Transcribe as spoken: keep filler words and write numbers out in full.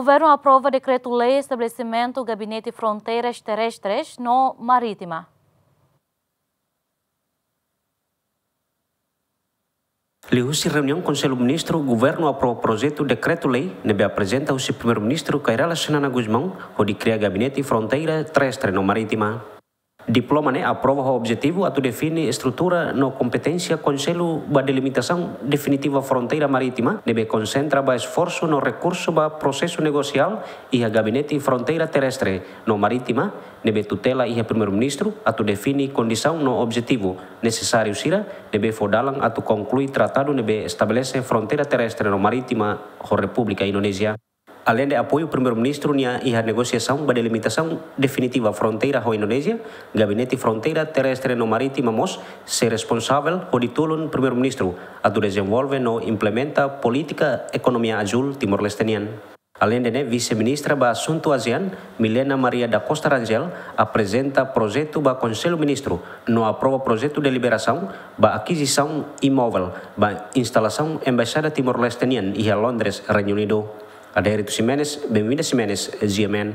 Governu aprova dekretu-lei estabelesimentu Gabinete Fronteiras Terrestres no Marítima. Liuhusi reuniaun Konsellu Ministru, Governu aprova projetu dekretu-lei ne'ebé aprezenta husi Primeiru-Ministru Kay Rala Xanana Gusmão, hodi kria Gabinete Fronteira Terrestre no Marítima. Diploma ne'e aprova ho objetivu atu define estrutura no kompeténsia Konsellu ba delimitasaun definitiva fronteira marítima, ne'ebé konsentra ba esforsu no rekursu ba prosesu negosiál iha Gabinete Fronteira Terrestre no Marítima, ne'ebé tutela iha Primeiru-Ministru, atu define kondisaun no objetivu nesesáriu sira ne'ebé fó dalan atu konklui tratadu ne'ebé estabelese fronteira terrestre no marítima ho Repúblika Indonézia. Aleinde apoiu Primeiru-Ministru nian iha negosiasaun ba delimitasaun definitiva fronteira ho Indonézia, Gabinete Fronteira Terrestre no Marítima mós sei responsavel hodi tulun Primeiru-Ministru atu dezenvolve no implementa polítika ekonomia azúl Timor-Leste nian. Aleinde ne'e, Vise-Ministra ba Asuntu ASEAN, Milena Maria da Costa Rangel, aprezenta projetu ba Konsellu Ministru no aprova projetu deliberasaun ba akizisaun imóvel ba instalasaun Embaixada Timor-Leste nian iha Londres, Reinu Unidu. Adérito Ximenes, Benvinda Ximenes, G M N.